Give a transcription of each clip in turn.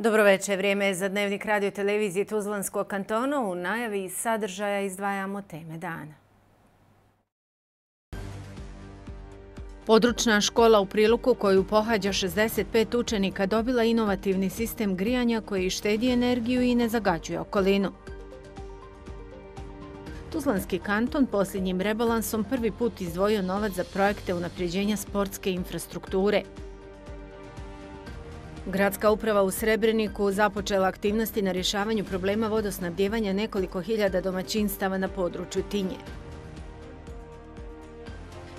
Dobro večer, vrijeme je za Dnevnik radio televizije Tuzlanskog kantona. U najavi sadržaja izdvajamo teme dana. Područna škola u Priluku koju pohađa 65 učenika dobila inovativni sistem grijanja koji štedi energiju i ne zagađuje okolinu. Tuzlanski kanton posljednjim rebalansom prvi put izdvojio novac za projekte unapređenja sportske infrastrukture. Gradska uprava u Srebreniku započela aktivnosti na rješavanju problema vodosnabdijevanja nekoliko hiljada domaćinstava na području Tinje.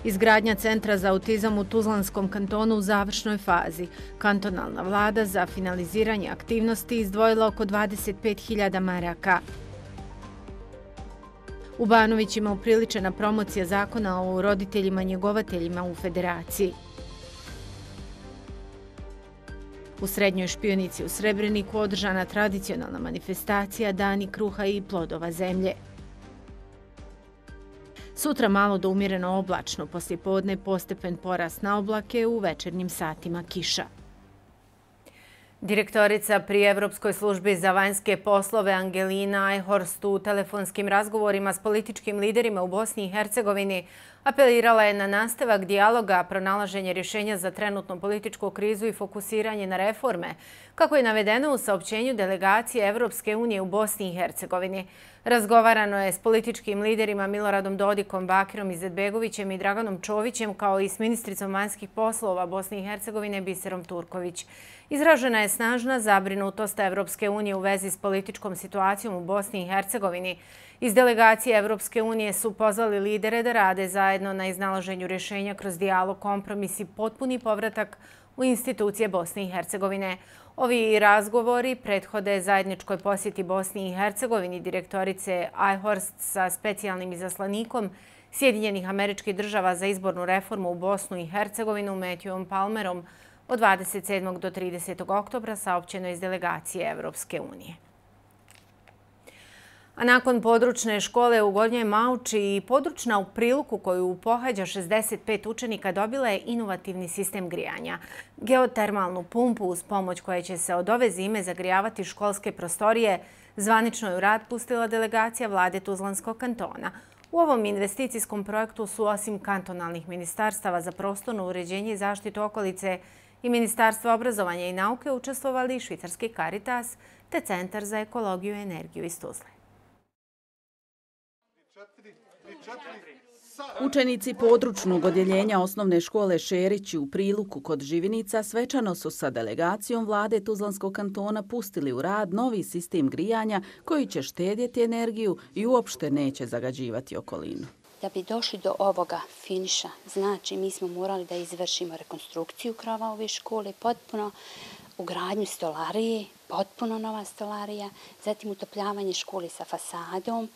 Izgradnja centra za autizam u Tuzlanskom kantonu u završnoj fazi. Kantonalna vlada za finaliziranje aktivnosti izdvojila oko 25.000 maraka. U Banovićima upriličena promocija zakona o roditeljima njegovateljima u Federaciji. U Srednjoj Špionici u Srebreniku održana tradicionalna manifestacija Dani kruha i plodova zemlje. Sutra malo do umjereno oblačno, poslijepodne postepen porast na oblake, u večernjim satima kiša. Direktorica pri Evropskoj službi za vanjske poslove Angelina Eichhorst u telefonskim razgovorima s političkim liderima u Bosni i Hercegovini apelirala je na nastavak dijaloga, pronalaženje rješenja za trenutnu političku krizu i fokusiranje na reforme, kako je navedeno u saopćenju delegacije Evropske unije u Bosni i Hercegovini. Razgovarano je s političkim liderima Miloradom Dodikom, Bakirom Izetbegovićem i Draganom Čovićem, kao i s ministricom vanjskih poslova Bosne i Hercegovine Biserom Turković. Izražena je snažna zabrinutost Evropske unije u vezi s političkom situacijom u Bosni i Hercegovini. Iz delegacije Evropske unije su pozvali lidere da rade zajedno na iznalaženju rješenja kroz dijalog, kompromis i potpuni povratak u institucije Bosne i Hercegovine. Ovi razgovori prethode zajedničkoj posjeti Bosni i Hercegovini direktorice Eichhorst sa specijalnim izaslanikom Sjedinjenih Američkih Država za izbornu reformu u Bosnu i Hercegovinu Matthewom Palmerom od 27. do 30. oktobra, saopćeno iz delegacije Evropske unije. A nakon područne škole u Gornjoj Mauči i područna u Priluku koju pohađa 65 učenika dobila je inovativni sistem grijanja. Geotermalnu pumpu uz pomoć koje će se od ove zime zagrijavati školske prostorije zvanično je u rad pustila delegacija vlade Tuzlanskog kantona. U ovom investicijskom projektu su osim kantonalnih ministarstava za prostorno uređenje i zaštitu okolice i Ministarstva obrazovanja i nauke učestvovali švicarski Caritas te Centar za ekologiju i energiju iz Tuzle. Učenici područnog odjeljenja osnovne škole Šerići u Priluku kod Živinica svečano su sa delegacijom vlade Tuzlanskog kantona pustili u rad novi sistem grijanja koji će štedjeti energiju i uopšte neće zagađivati okolinu. Da bi došli do ovoga finiša, znači mi smo morali da izvršimo rekonstrukciju krova ove škole, potpuno ugradnju stolarije, potpuno nova stolarija, zatim utopljavanje škole sa fasadom,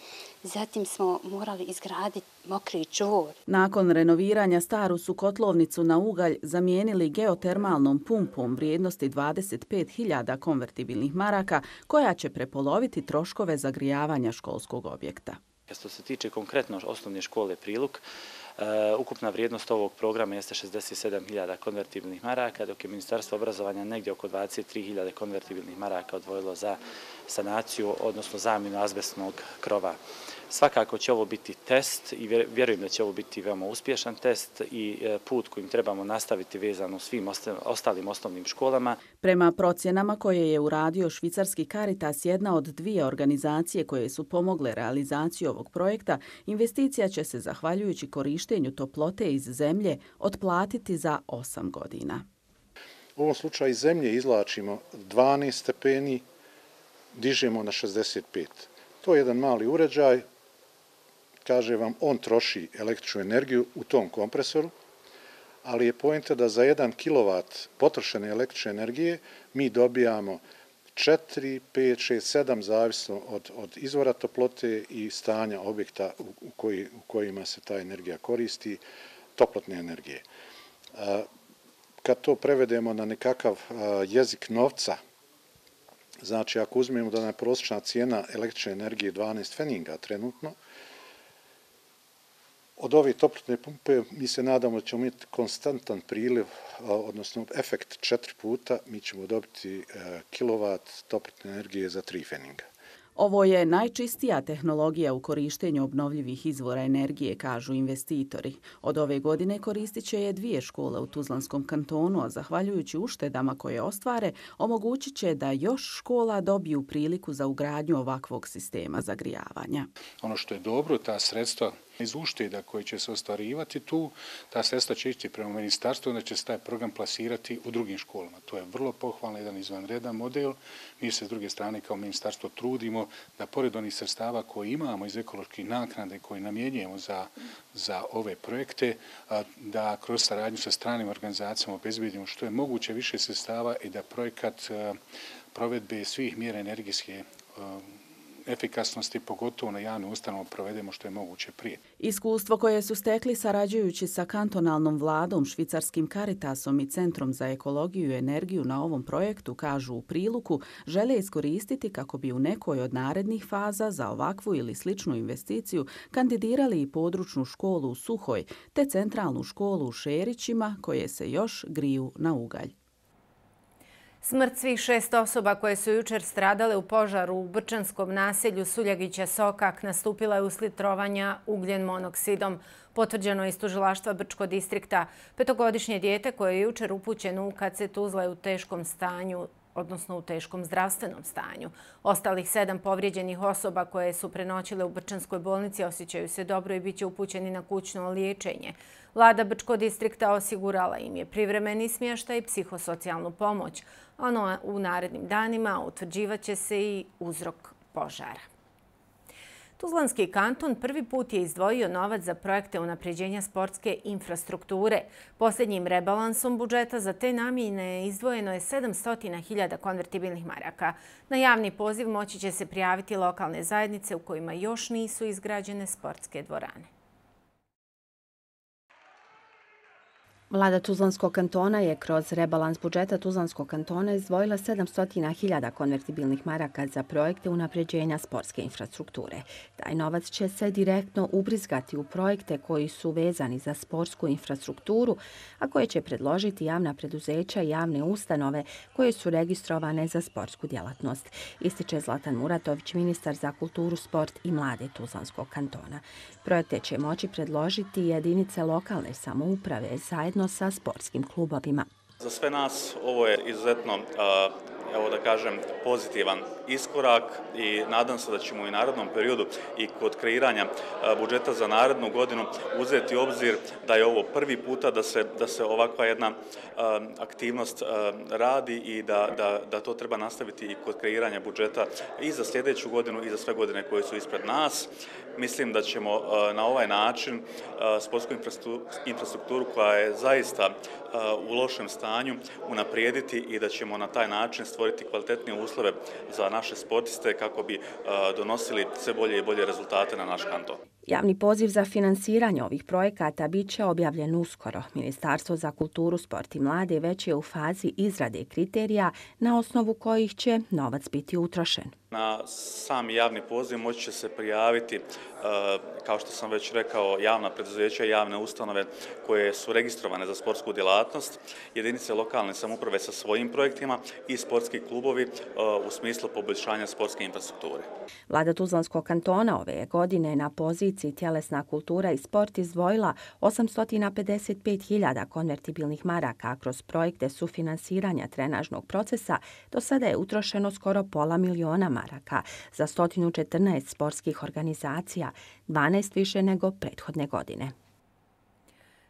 zatim smo morali izgraditi mokri čvor. Nakon renoviranja staru su kotlovnicu na ugalj zamijenili geotermalnom pumpom vrijednosti 25.000 konvertibilnih maraka koja će prepoloviti troškove zagrijavanja školskog objekta. Što se tiče konkretno osnovne škole Priluk, ukupna vrijednost ovog programa jeste 67.000 konvertibilnih maraka, dok je Ministarstvo obrazovanja negdje oko 23.000 konvertibilnih maraka odvojilo za sanaciju, odnosno zamjenu azbestnog krova. Svakako će ovo biti test i vjerujem da će ovo biti veoma uspješan test i put kojim trebamo nastaviti vezano svim ostalim osnovnim školama. Prema procjenama koje je uradio švicarski Caritas, jedna od dvije organizacije koje su pomogle realizaciju ovog projekta, investicija će se, zahvaljujući korištenju toplote iz zemlje, otplatiti za 8 godina. U ovom slučaju iz zemlje izvlačimo 12 stepeni, dižemo na 65. To je jedan mali uređaj, kaže vam, on troši električnu energiju u tom kompresoru, ali je poenta da za 1 kW potrošene električne energije mi dobijamo 4, 5, 6, 7, zavisno od izvora toplote i stanja objekta u kojima se ta energija koristi, toplotne energije. Kad to prevedemo na nekakav jezik novca, znači ako uzmemo da je prosječna cijena električne energije 12 pfenninga trenutno, Od ove toplotne pumpe mi se nadamo da ćemo imati konstantan priliv, odnosno efekt 4 puta, mi ćemo dobiti kilovat toplotne energije za 3 feninga. Ovo je najčistija tehnologija u korištenju obnovljivih izvora energije, kažu investitori. Od ove godine koristit će je 2 škole u Tuzlanskom kantonu, a zahvaljujući uštedama koje ostvare, omogućit će da još škola dobiju priliku za ugradnju ovakvog sistema zagrijavanja. Ono što je dobro, ta sredstva iz ušteda koji će se ostvarivati tu, ta sredstva će ići prema ministarstvu, onda će se taj program plasirati u drugim školama. To je vrlo pohvalno, jedan izvanredan model. Mi se s druge strane kao ministarstvo trudimo da pored onih sredstava koje imamo iz ekoloških naknade koje namjenjujemo za ove projekte, da kroz saradnju sa stranim organizacijama obezbedimo što je moguće više sredstava i da projekat provedbe svih mjera energijske efikasnosti, pogotovo na javnim ustanovama, provedemo što je moguće prije. Iskustvo koje su stekli sarađujući sa kantonalnom vladom, švicarskim Caritasom i Centrom za ekologiju i energiju na ovom projektu, kažu u Priluku, žele iskoristiti kako bi u nekoj od narednih faza za ovakvu ili sličnu investiciju kandidirali i područnu školu u Suhoj, te centralnu školu u Šerićima, koje se još griju na ugalj. Smrt svih 6 osoba koje su jučer stradale u požaru u brčanskom naselju Suljagića-Sokak nastupila je uslijed trovanja ugljen monoksidom. Potvrđeno je iz tužilaštva Brčkog distrikta. 5-godišnje dijete koje je jučer upućeno u KC Tuzla je u teškom stanju, odnosno u teškom zdravstvenom stanju. Ostalih 7 povrijeđenih osoba koje su prenoćile u Brčanskoj bolnici osjećaju se dobro i bit će upućeni na kućno liječenje. Vlada Brčkog distrikta osigurala im je privremeni smještaj i psihosocijalnu pomoć. U narednim danima utvrđivat će se i uzrok požara. Tuzlanski kanton prvi put je izdvojio novac za projekte unapređenja sportske infrastrukture. Posljednjim rebalansom budžeta za te namjene izdvojeno je 700.000 konvertibilnih maraka. Na javni poziv moći će se prijaviti lokalne zajednice u kojima još nisu izgrađene sportske dvorane. Vlada Tuzlanskog kantona je kroz rebalans budžeta Tuzlanskog kantona izdvojila 700.000 konvertibilnih maraka za projekte unapređenja sportske infrastrukture. Taj novac će se direktno ubrizgati u projekte koji su vezani za sportsku infrastrukturu, a koje će predložiti javna preduzeća i javne ustanove koje su registrovane za sportsku djelatnost, ističe Zlatan Muratović, ministar za kulturu, sport i mlade Tuzlanskog kantona. Projekte će moći predložiti jedinice lokalne samouprave zajedno sa sportskim klubovima. Za sve nas ovo je izuzetno, evo da kažem, pozitivan iskorak i nadam se da ćemo u narednom periodu i kod kreiranja budžeta za narednu godinu uzeti u obzir da je ovo prvi puta da se ovakva jedna aktivnost radi i da to treba nastaviti i kod kreiranja budžeta i za sljedeću godinu i za sve godine koje su ispred nas. Mislim da ćemo na ovaj način sportsku infrastrukturu koja je zaista u lošem stanju unaprijediti i da ćemo na taj način stvoriti kvalitetnije uslove za naše sportiste kako bi donosili sve bolje i bolje rezultate na naš kanton. Javni poziv za finansiranje ovih projekata bit će objavljen uskoro. Ministarstvo za kulturu, sport i mlade već je u fazi izrade kriterija na osnovu kojih će novac biti utrošen. Na sam javni poziv moći će se prijaviti, kao što sam već rekao, javna preduzeća i javne ustanove koje su registrovane za sportsku djelatnost, jedinice lokalne samouprave sa svojim projektima i sportski klubovi u smislu poboljšanja sportske infrastrukture. Vlada Tuzlanskog kantona ove godine na poziciji tjelesna kultura i sport izdvojila 855.000 konvertibilnih maraka kroz projekte sufinansiranja trenažnog procesa. Do sada je utrošeno skoro pola miliona maraka za 114 sportskih organizacija, 12 više nego prethodne godine.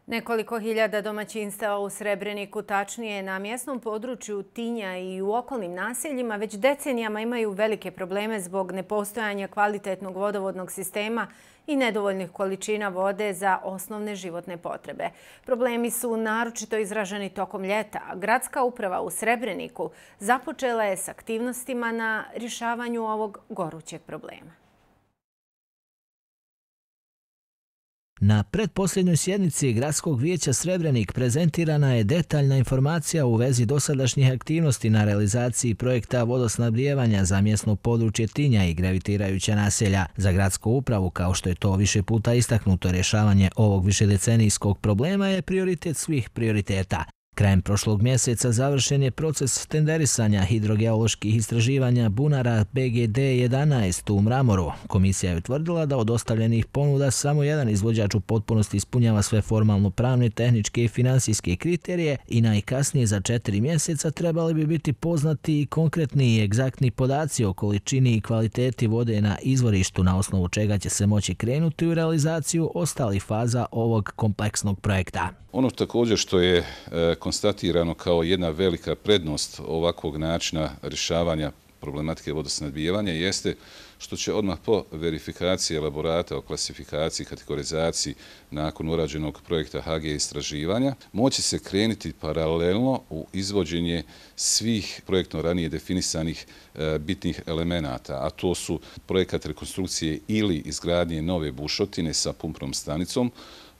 Nekoliko hiljada domaćinstava u Srebreniku, tačnije na mjesnom području Tinja i u okolnim naseljima, već decenijama imaju velike probleme zbog nepostojanja kvalitetnog vodovodnog sistema i nedovoljnih količina vode za osnovne životne potrebe. Problemi su naročito izraženi tokom ljeta. Gradska uprava u Srebreniku započela je s aktivnostima na rješavanju ovog gorućeg problema. Na pretposljednjoj sjednici Gradskog vijeća Srebrenik prezentirana je detaljna informacija u vezi dosadašnjih aktivnosti na realizaciji projekta vodosnabdijevanja za mjesno područje Tinja i gravitirajuća naselja. Za gradsku upravu, kao što je to više puta istaknuto, rješavanje ovog višedecenijskog problema je prioritet svih prioriteta. Krajem prošlog mjeseca završen je proces tenderisanja hidrogeoloških istraživanja bunara BGD-11 u Mramoru. Komisija je utvrdila da od ostavljenih ponuda samo jedan izvođač u potpunosti ispunjava sve formalno pravne, tehničke i finansijske kriterije i najkasnije za 4 mjeseca trebali bi biti poznati i konkretni i egzaktni podaci o količini i kvaliteti vode na izvorištu, na osnovu čega će se moći krenuti u realizaciju ostalih faza ovog kompleksnog projekta. Ono također što je konstatirano kao jedna velika prednost ovakvog načina rješavanja problematike vodosnabdijevanja jeste što će odmah po verifikaciji elaborata o klasifikaciji i kategorizaciji nakon urađenog projekta HG istraživanja moći se krenuti paralelno u izvođenje svih projektno ranije definisanih bitnih elemenata, a to su projekat rekonstrukcije ili izgradnje nove bušotine sa pumpnom stanicom,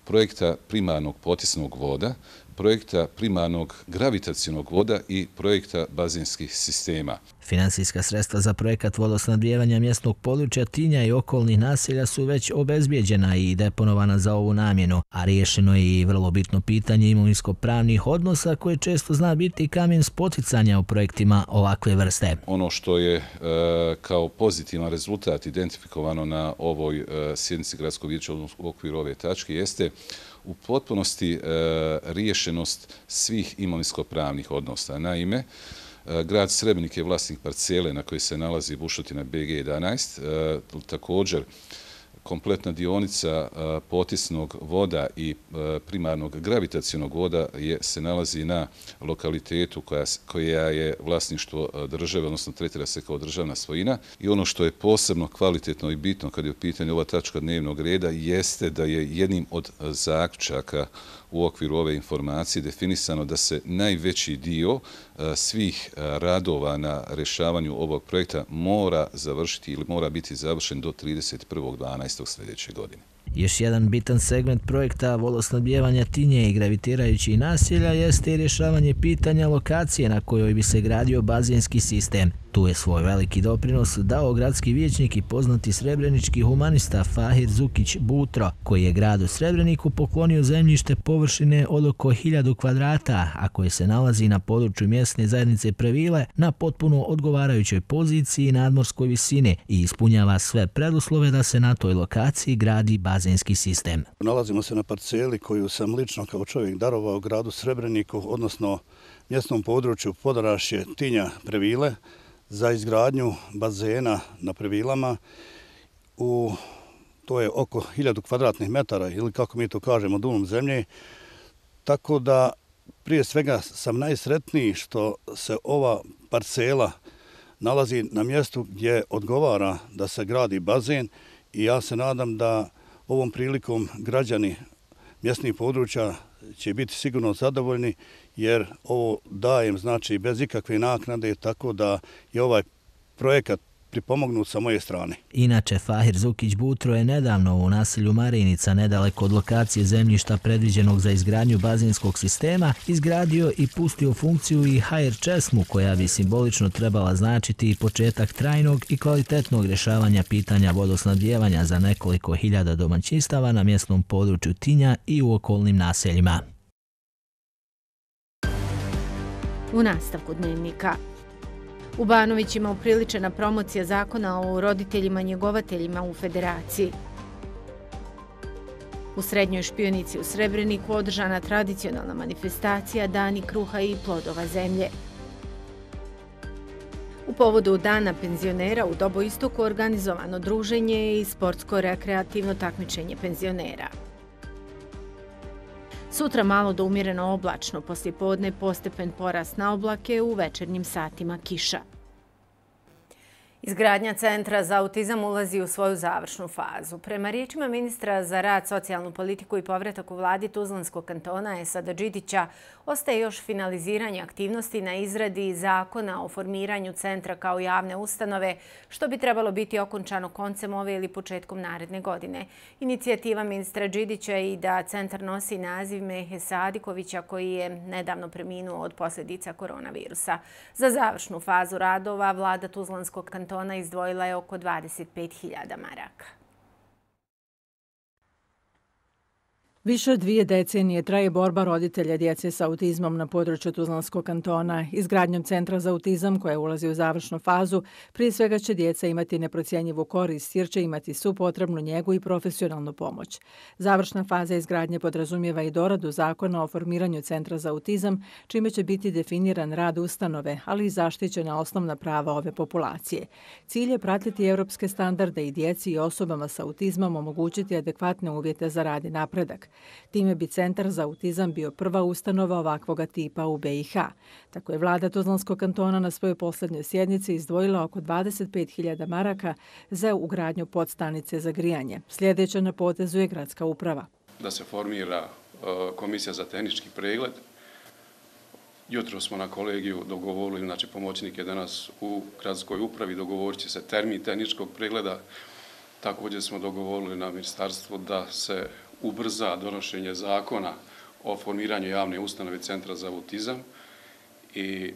projekta primarnog potisnog voda, projekta primarnog gravitacionog voda i projekta bazenskih sistema. Finansijska sredstva za projekat vodosnabdijevanja mjesnog područja Tinja i okolnih naselja su već obezbijeđena i deponovana za ovu namjenu, a riješeno je i vrlo bitno pitanje imovinsko-pravnih odnosa koje često zna biti kamen spoticanja u projektima ovakve vrste. Ono što je kao pozitivan rezultat identifikovano na ovoj sjednici Gradskog vijeća u okviru ove tačke jeste u potpunosti riješenost svih imovinsko-pravnih odnosa. Naime, grad Srebrenik je vlasnik parcele na kojoj se nalazi bušotina BG11, također kompletna dionica potisnog voda i primarnog gravitacionog voda se nalazi na lokalitetu koja je vlasništvo države, odnosno tretira se kao državna svojina. I ono što je posebno kvalitetno i bitno kad je u pitanju ova tačka dnevnog reda jeste da je jednim od zaključaka u okviru ove informacije definisano da se najveći dio svih radova na rješavanju ovog projekta mora završiti ili mora biti završen do 31.12. sljedeće godine. Još jedan bitan segment projekta vodosnabdijevanja Tinje i gravitirajućih naselja jeste i rješavanje pitanja lokacije na kojoj bi se gradio bazenski sistem. Tu je svoj veliki doprinos dao gradski vijećnik i poznati srebrenički humanista Fahir Zukić Butro, koji je gradu Srebreniku poklonio zemljište površine od oko 1000 kvadrata, a koje se nalazi na području mjesne zajednice Previle na potpuno odgovarajućoj poziciji i nadmorskoj visini i ispunjava sve preduslove da se na toj lokaciji gradi bazenski sistem. Nalazimo se na parceli koju sam lično kao čovjek darovao gradu Srebreniku, odnosno mjesnom području Podarašje, Tinja, Previle, za izgradnju bazena na Previlama. To je oko 1000 kvadratnih metara ili kako mi to kažemo dulom zemlje. Tako da prije svega sam najsretniji što se ova parcela nalazi na mjestu gdje odgovara da se gradi bazen i ja se nadam da ovom prilikom građani mjesnih područja će biti sigurno zadovoljni jer ovo dajem znači bez ikakve naknade, tako da je ovaj projekat pripomognut sa moje strane. Inače, Fahir Zukić Butro je nedavno u naselju Marinica, nedaleko od lokacije zemljišta predviđenog za izgradnju bazenskog sistema, izgradio i pustio funkciju i HR česmu koja bi simbolično trebala značiti i početak trajnog i kvalitetnog rješavanja pitanja vodosnabdijevanja za nekoliko hiljada domaćinstava na mjesnom području Tinja i u okolnim naseljima. U nastavku dnevnika. U Banovićima upriličena promocija zakona o roditeljima njegovateljima u Federaciji. U Srednjoj špionici u Srebreniku održana tradicionalna manifestacija Dani kruha i plodova zemlje. U povodu Dana penzionera u Doboistoku organizovano druženje i sportsko-rekreativno takmičenje penzionera. Sutra malo do umjereno oblačno, poslijepodne postepen porast na oblake, u večernjim satima kiša. Izgradnja Centra za autizam ulazi u svoju završnu fazu. Prema riječima ministra za rad, socijalnu politiku i povratak u vladi Tuzlanskog kantona Esada Đidića, ostaje još finaliziranje aktivnosti na izradi zakona o formiranju centra kao javne ustanove, što bi trebalo biti okončano koncem ove ili početkom naredne godine. Inicijativa ministra Đidića je i da centar nosi naziv Mehe Sadikovića, koji je nedavno preminuo od posljedica koronavirusa. Za završnu fazu radova vlada Tuzlanskog kantona izdvojila je oko 25.000 maraka. Više od 2 decenije traje borba roditelja djece sa autizmom na području Tuzlanskog kantona. Izgradnjom Centra za autizam, koja ulazi u završnu fazu, prije svega će djeca imati neprocjenjivu korist jer će imati svu potrebnu njegu i profesionalnu pomoć. Završna faza izgradnje podrazumijeva i doradu zakona o formiranju Centra za autizam, čime će biti definiran rad ustanove, ali i zaštićena osnovna prava ove populacije. Cilj je pratiti europske standarde i djeci i osobama sa autizmom omogućiti adekvatne uvjete za rad i napredak. Time bi Centar za autizam bio prva ustanova ovakvoga tipa u BiH. Tako je vlada Tuzlanskog kantona na svojoj posljednjoj sjednici izdvojila oko 25.000 maraka za ugradnju podstanice za grijanje. Sljedeća na potezu je gradska uprava. Da se formira komisija za tehnički pregled. Jutro smo na kolegiju dogovorili, znači pomoćnik je danas u gradskoj upravi, dogovorit će se termin tehničkog pregleda. Također smo dogovorili na ministarstvu da se ubrza donošenje zakona o formiranju javne ustanove Centra za autizam i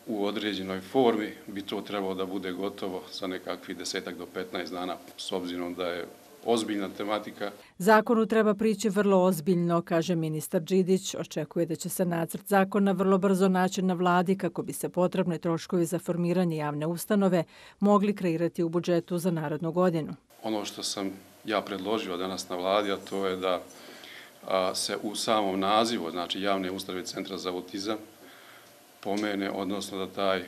u određenoj formi bi to trebalo da bude gotovo za nekakvih 10 do 15 dana, s obzirom da je ozbiljna tematika. Zakonu treba prići vrlo ozbiljno, kaže ministar Đidić. Očekuje da će se nacrt zakona vrlo brzo naći na vladi kako bi se potrebni troškovi za formiranje javne ustanove mogli kreirati u budžetu za narednu godinu. Ono što sam ja predložio danas na vladi, a to je da se u samom nazivu, znači javne ustanove Centra za autizam, pomene, odnosno da taj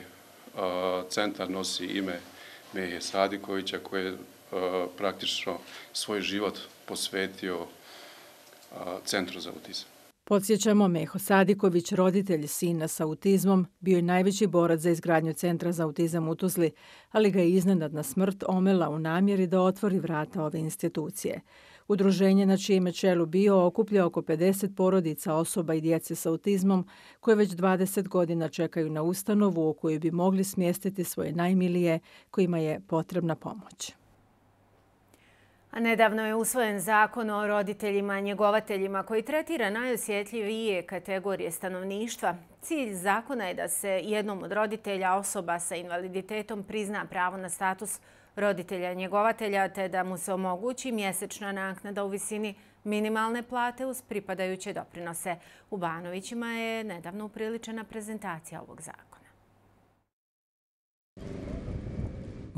centar nosi ime Mehe Sadikovića, koji je praktično svoj život posvetio Centru za autizam. Podsjećamo, Meho Sadiković, roditelj sina sa autizmom, bio je najveći borac za izgradnju Centra za autizam u Tuzli, ali ga je iznenadna smrt omela u namjeri da otvori vrata ove institucije. Udruženje na čijem je čelu bio okuplja oko 50 porodica osoba i djece sa autizmom koje već 20 godina čekaju na ustanovu u kojoj bi mogli smjestiti svoje najmilije kojima je potrebna pomoć. A nedavno je usvojen zakon o roditeljima i njegovateljima koji tretira najosjetljivije kategorije stanovništva. Cilj zakona je da se jednom od roditelja osoba sa invaliditetom prizna pravo na status roditelja i njegovatelja te da mu se omogući mjesečna naknada u visini minimalne plate uz pripadajuće doprinose. U Banovićima je nedavno upriličena prezentacija ovog zakona.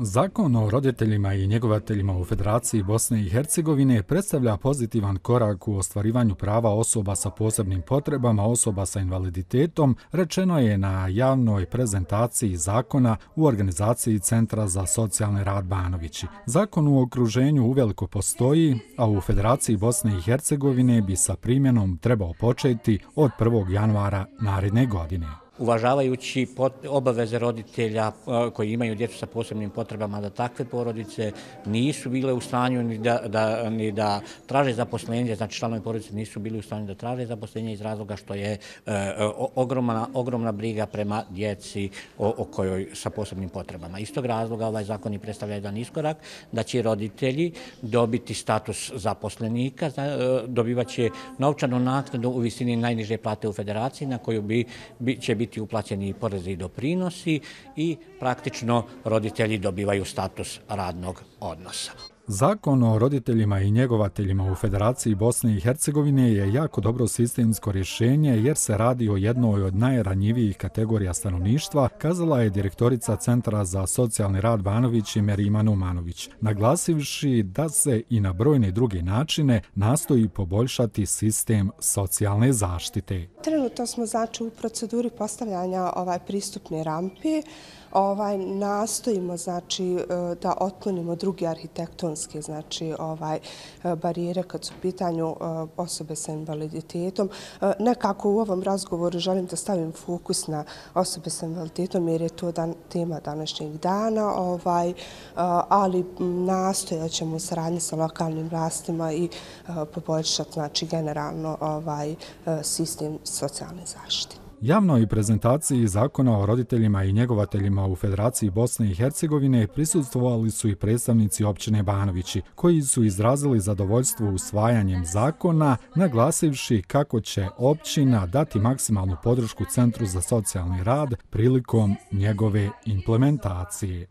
Zakon o roditeljima i njegovateljima u Federaciji Bosne i Hercegovine predstavlja pozitivan korak u ostvarivanju prava osoba sa posebnim potrebama, osoba sa invaliditetom, rečeno je na javnoj prezentaciji zakona u organizaciji Centra za socijalni rad Banovići. Zakon u okruženju uveliko postoji, a u Federaciji Bosne i Hercegovine bi sa primjenom trebao početi od 1. januara naredne godine. Uvažavajući obaveze roditelja koji imaju djecu sa posebnim potrebama, da takve porodice nisu bile u stanju ni da traže zaposlenje, znači članovi porodice nisu bili u stanju da traže zaposlenje iz razloga što je ogromna briga prema djeci o kojoj sa posebnim potrebama. Iz tog razloga ovaj zakon i predstavlja jedan iskorak da će roditelji dobiti status zaposlenika, dobivaće novčanu naknadu u visini najniže plate u Federaciji na koju će biti uplaćeni porezi i doprinosi i praktično roditelji dobivaju status radnog odnosa. Zakon o roditeljima i njegovateljima u Federaciji Bosne i Hercegovine je jako dobro sistemsko rješenje jer se radi o jednoj od najranjivijih kategorija stanovništva, kazala je direktorica Centra za socijalni rad Banović Merima Numanović, naglasivši da se i na brojne druge načine nastoji poboljšati sistem socijalne zaštite. Trenutno smo znači u proceduri postavljanja pristupne rampe. Nastojimo znači da otklonimo druge arhitektonske zakonske znači barijere kad su u pitanju osobe sa invaliditetom. Nekako u ovom razgovoru želim da stavim fokus na osobe sa invaliditetom jer je to tema današnjeg dana, ali nastojat ćemo u saradnji sa lokalnim vlastima i poboljšati znači generalno sistem socijalne zaštite. Javnoj prezentaciji zakona o roditeljima i njegovateljima u Federaciji Bosne i Hercegovine prisustvovali su i predstavnici općine Banovići, koji su izrazili zadovoljstvo usvajanjem zakona, naglasivši kako će općina dati maksimalnu podršku Centru za socijalni rad prilikom njegove implementacije.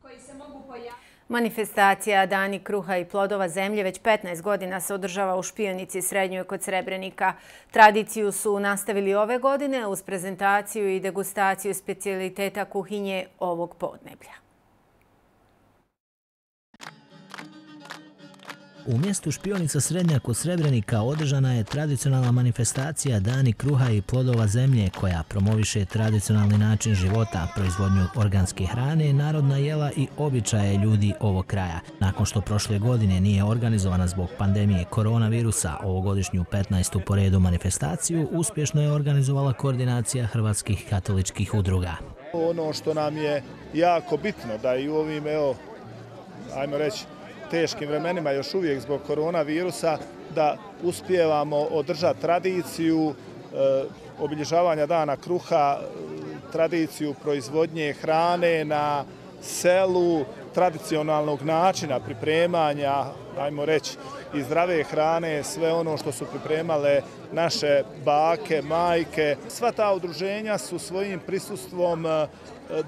Manifestacija Dani kruha i plodova zemlje već 15 godina se održava u Špionici Srednjoj kod Srebrenika. Tradiciju su nastavili ove godine uz prezentaciju i degustaciju specijaliteta kuhinje ovog podneblja. U mjestu Špionica Srednja kod Srebrenika održana je tradicionalna manifestacija Dani kruha i plodova zemlje koja promoviše tradicionalni način života, proizvodnju organske hrane, narodna jela i običaje ljudi ovog kraja. Nakon što prošle godine nije organizovana zbog pandemije koronavirusa, ovogodišnju 15. po redu manifestaciju uspješno je organizovala koordinacija hrvatskih katoličkih udruga. Ono što nam je jako bitno da i u ovim, ajmo reći, teškim vremenima još uvijek zbog koronavirusa da uspijevamo održati tradiciju obilježavanja Dana kruha, tradiciju proizvodnje hrane na selu, tradicionalnog načina pripremanja, ajmo reći, i zdrave hrane, sve ono što su pripremale naše bake, majke. Sva ta udruženja su svojim prisustvom,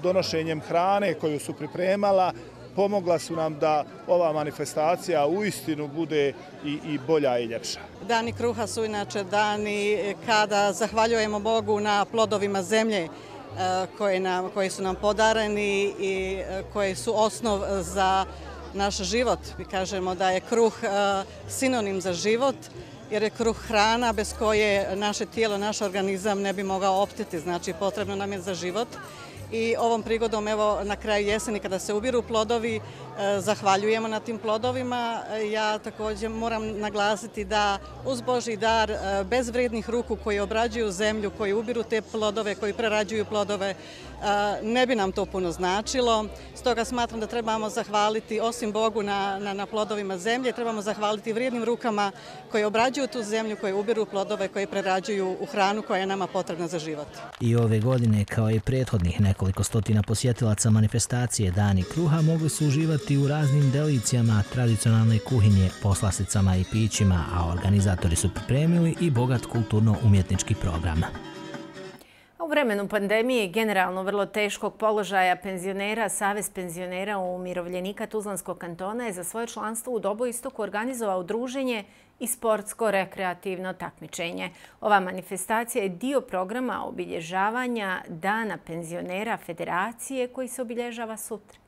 donošenjem hrane koju su pripremala, pomogla su nam da ova manifestacija uistinu bude i bolja i ljepša. Dani kruha su inače dani kada zahvaljujemo Bogu na plodovima zemlje koji su nam podareni i koji su osnov za naš život. Mi kažemo da je kruh sinonim za život, jer je kruh hrana bez koje naše tijelo, naš organizam ne bi mogao opstati, znači potrebno nam je za život. I ovom prigodom, evo, na kraju jeseni kada se ubiru plodovi, zahvaljujemo na tim plodovima. Ja također moram naglasiti da uz Božji dar, bez vrednih ruku koji obrađuju zemlju, koji ubiru te plodove, koji prerađuju plodove, ne bi nam to puno značilo. Stoga smatram da trebamo zahvaliti, osim Bogu na plodovima zemlje, trebamo zahvaliti vrijednim rukama koji obrađuju tu zemlju, koji ubiru plodove, koji prerađuju u hranu koja je nama potrebna za život. I ove godine, kao i prethodnih nekoliko stotina posjetilaca manifestacije Dani kruha, mogli su uživati u raznim delicijama tradicionalne kuhinje, poslasticama i pićima, a organizatori su pripremili i bogat kulturno-umjetnički program. U vremenu pandemije generalno vrlo teškog položaja penzionera, Savez penzionera umirovljenika Tuzlanskog kantona je za svoje članstvo u Doboistoku organizovao druženje i sportsko-rekreativno takmičenje. Ova manifestacija je dio programa obilježavanja Dana penzionera Federacije koji se obilježava sutra.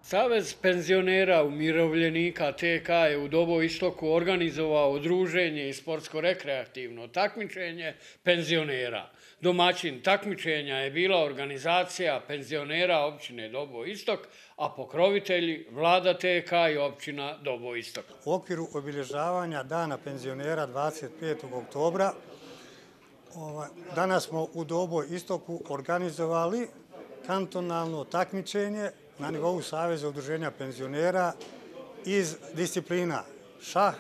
Savez penzionera umirovljenika TK je u Doboistoku organizovao druženje i sportsko-rekreativno takmičenje penzionera. Domaćin takmičenja je bila organizacija penzionera općine Doboistok, a pokrovitelji vlada TK i općina Doboistok. U okviru obilježavanja Dana penzionera 25. oktobra danas smo u Doboistoku organizovali kantonalno takmičenje na nivou Saveza udruženja penzionera iz disciplina šah,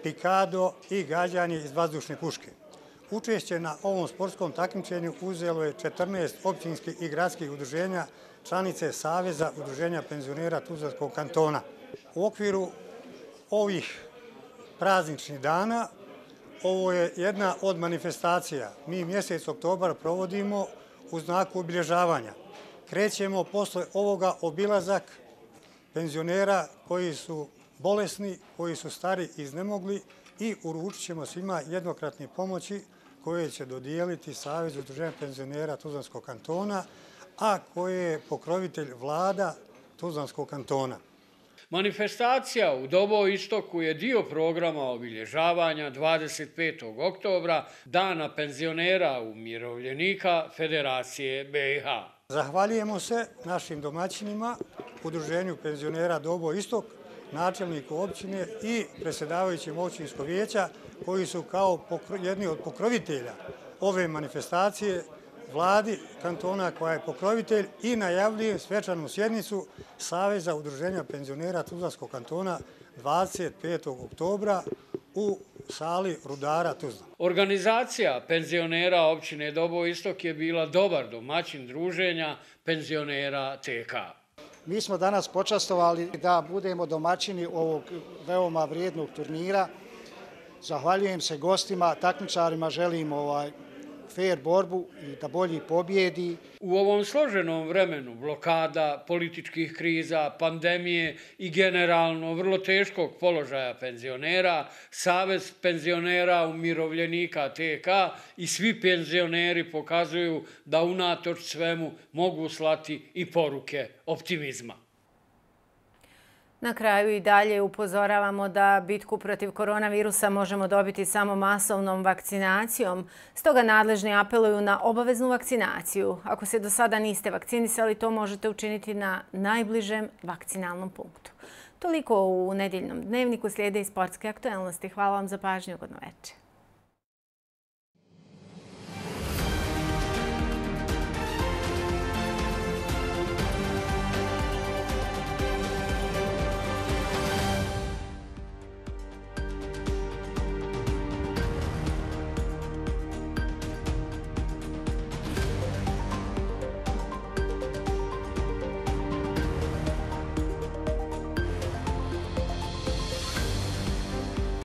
pikado i gađanje iz vazdušne puške. Učešće na ovom sportskom takmičenju uzelo je 14 općinskih i gradskih udruženja članice Saveza udruženja penzionera Tuzlanskog kantona. U okviru ovih prazničnih dana ovo je jedna od manifestacija. Mi mjesec oktobar provodimo u znaku obilježavanja. Krećemo posle ovoga obilazak penzionera koji su bolesni, koji su stari i iznemogli i uručit ćemo svima jednokratne pomoći koje će dodijeliti Savez udruženja penzionera Tuzlanskog kantona, a koje je pokrovitelj vlada Tuzlanskog kantona. Manifestacija u Doboistoku je dio programa obilježavanja 25. oktobra Dana penzionera umirovljenika Federacije BiH. Zahvaljujemo se našim domaćinima Udruženju penzionera Dobo Istok, načelniku općine i predsjedavajućim općinskog vijeća, koji su kao jedni od pokrovitelja ove manifestacije, vladi kantona koja je pokrovitelj, i najavljujem svečanu sjednicu Saveza udruženja penzionera Tuzlanskog kantona 25. oktobra u sali Rudara Tuzla. Organizacija penzionera općine Dobo Istok je bila dobar domaćin druženja penzionera TK. Mi smo danas počastovali da budemo domaćini ovog veoma vrijednog turnira. Zahvaljujem se gostima, takmičarima, želim fair borbu i da bolji pobjedi. U ovom složenom vremenu blokada, političkih kriza, pandemije i generalno vrlo teškog položaja penzionera, Savez penzionera umirovljenika TK i svi penzioneri pokazuju da unatoč svemu mogu slati i poruke optimizma. Na kraju i dalje upozoravamo da bitku protiv koronavirusa možemo dobiti samo masovnom vakcinacijom. Stoga nadležni apeluju na obaveznu vakcinaciju. Ako se do sada niste vakcinisali, to možete učiniti na najbližem vakcinalnom punktu. Toliko u nedjeljnom dnevniku, slijede i sportske aktuelnosti. Hvala vam za pažnju, ugodno večer.